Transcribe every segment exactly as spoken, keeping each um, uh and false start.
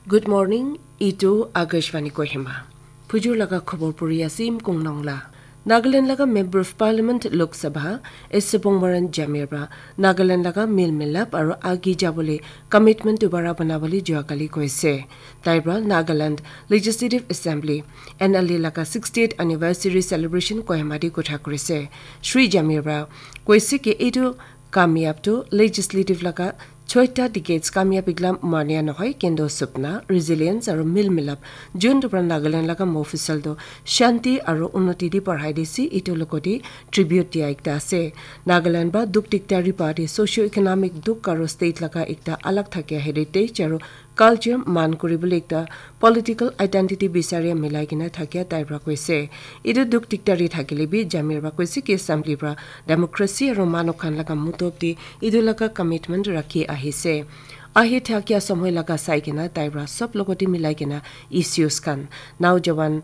Good morning, itu Akashvani Kohima. Phujur laga khobor puri ase Imkong Nongla. Nagaland laga Member of Parliament Lok Sabha, S Sabong Maran Jamir pra Nagaland laga mil milap aru agi jabole commitment dubara banabole jua kali koise. Tai pra Nagaland Legislative Assembly, N L A laga sixtieth anniversary celebration Kohima de kotha korise. Shri Jamir pra koise ki itu kamyab tu legislative laga choita decades kamyab iglam mania nohoi, kendo supna, resilience aru mil milap jun tu pra Nagaland laga mofusal tu shanti aru unnoti di parhai disi itu lokoti tribute dia ekta ase. Nagaland ba duk dikta ripa de socio economic duk aru state laga ekta alag thakia heritage aru culture man kuribole ekta political identity bisaria milai kena thakia tai pra koise. Itu duk dikta ri thakile bi Jamir pra koise ki assembly pra democracy aru manu khan laga mutob te itu laga commitment rakhi ahise. Ahi thakia somoy laga sai kena tai pra sob logoti milai kena issues khan, naujawan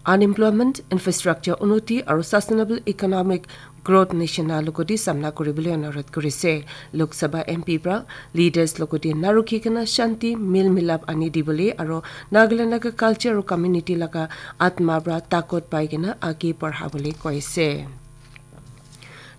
unemployment, infrastructure unnoti aru sustainable economic growth nishina logoti samna kuribole anurodh kurise. Lok Sabha M P pra leaders logoti narukhi kena shanti mil milap ani dibole aru Nagaland laga culture aru community laga atma pra takot pai kena agi parhabole koise.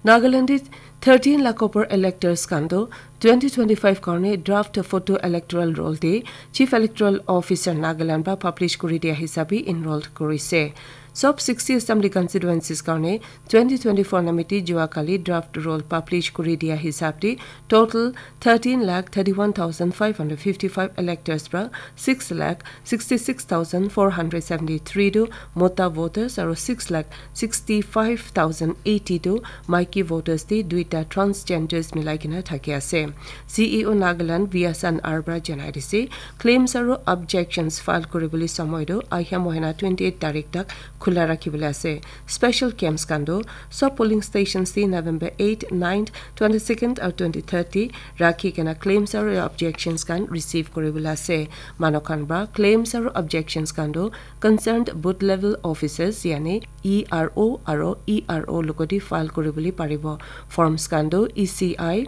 Nagaland thirteen lakh upor electors khan tu twenty twenty-five karne draft photo electoral roll de Chief Electoral Officer Nagaland pra publish kuri dia hisabe enrolled kurise. Sob sixty assembly constituencies karne twenty twenty-four namiti jua kali draft roll publish kuri dia hisab de total thirteen lakh thirty-one thousand five hundred fifty-five electors pra six lakh sixty-six thousand four hundred seventy-three tu mota voters aru six lakh sixty-five thousand eighty tu maiki voters de duita transgenders milai kena thaki ase. C E O Nagaland Vyasan Arbra janai dise, claims aru objections file kuribole somoy tu ahia mohina twenty-eight tarik tak khula rakhibole ase. Special camps khan tu sob polling stations de November eight, ninth, twenty-second aru twenty-third de rakhi kena claims aru objections khan receive kuribole ase. Manu khan pra claims aru objections khan tu concerned booth level officers yani E R O aru E R O logoti file kuribole paribo. Forms khan tu E C I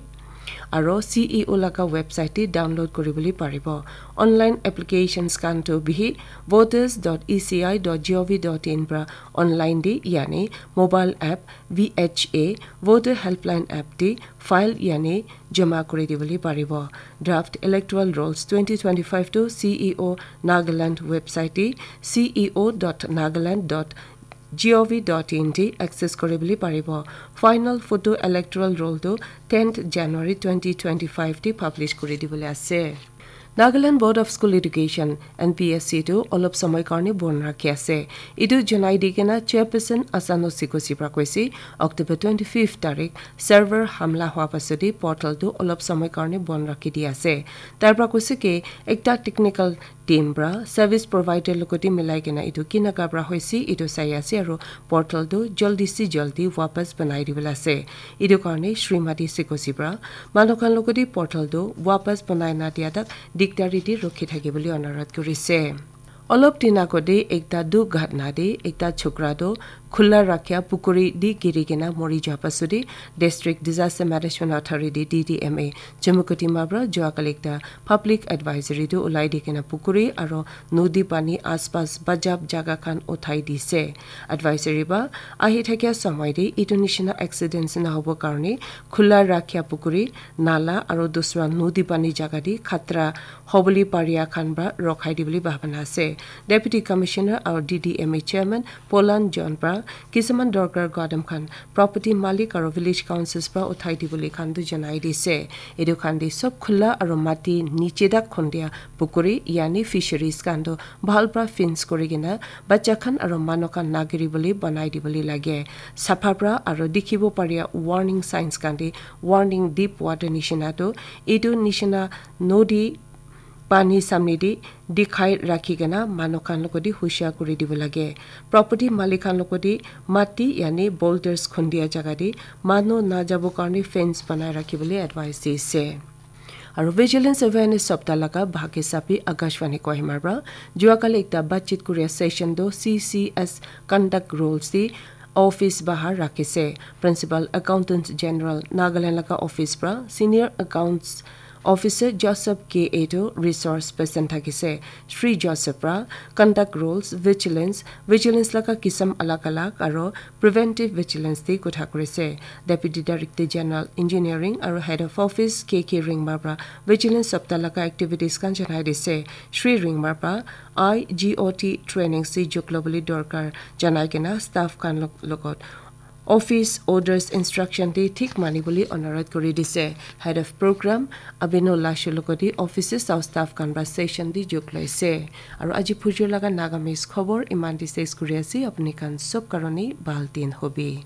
aru C E O laga website de download kuribole paribo. Online applications khan tu bihi voters dot E C I dot G O V dot in pra online de yani mobile app V H A voter helpline app de file yani joma kuri dibole paribo. Draft electoral rolls twenty twenty-five tu C E O Nagaland website de C E O dot nagaland dot G O V dot in de access kuribole paribo. Final photo electoral roll tu tenth January twenty twenty-five de publish kuri dibole ase. Nagaland Board of School Education, N B S E tu olop somoy karne bon rakhi ase. Itu janai di kena chairperson Asano Sikosi pra koise, October twenty-fifth tarik server hamla hwa pasodi portal tu olop somoy karne bon rakhi di ase. Tai pra koise ki ekta technical team pra service provider logoti milai kena itu kinaka pra hoise itu sai ase aru portal tu jaldi se jaldi wapas banai dibole ase. Itu karne Srimati Sikosi pra manu khan logoti portal tu wapas banai na dia tak dikdari te rukhi thaki bole anurodh kurise. Olop din agode ekta dughatna te ekta chokra tu khula rakhia pukuri te giri kena mori ja pasode District Disaster Management Authority, D D M A, Chumukedima pra jua kali ekta public advisory tu ulai di kena pukuri aro nodi pani aspas bajab jaga khan uthai dise. Advisory pra ahi thakia samay te etu nishina accidents nahobo karne khula rakhia pukuri, nala aro dusra nodi pani jaga te khatra hobole paria khan pra rokhai dibole bhabana ase. Deputy Commissioner aro D D M A Chairman Polan John pra kisuman dorkar gadam khan property malik aro village councils pra uthai dibole khan tu janai dise. Etu khan te sob khula aro mati niche tak khondia pukuri yani fisheries khan tu bhal pra fence kuri kena bacha khan aro manu khan nagiri bole banai dibole lage. Sapha pra aro dikhibo paria warning signs khan te warning deep water nishina tu etu nishina nodi pani samne te dikhai rakhi kena manu khan logoti hushia kuri dibo lage. Property malik khan logoti mati yani boulders khondia jaga te manu na jabo karne fence banai rakhi bole advice dise. Aro Vigilance Awareness Sapta laga bhag hisabe Akashvani Kohima pra jua kali ekta batchit kuria session tu C C S conduct rules te office bahar rakhise. Principal Accountant General Nagaland laga office pra senior accounts Officer Joseph K Edo resource person thakise. Shri Joseph pra conduct rules, vigilance, vigilance laga kisam alag alag aro preventive vigilance te kotha kurise. Deputy Director General Engineering aro Head of Office K K Ringmar pra vigilance sapta laga activities khan janai dise. Shri Ringmar pra I G O T training se juklo bole dorkar janai kena staff khan log- logot office orders instruction te thik mani bole onurodh kuri dise. Head of program Abino Lashu logoti offices aro staff khan pra session te juklo ise. Aro aji phujur laga Nagamese khobor iman te ses kuri ase. Apni khan sob karone bhal din hobi.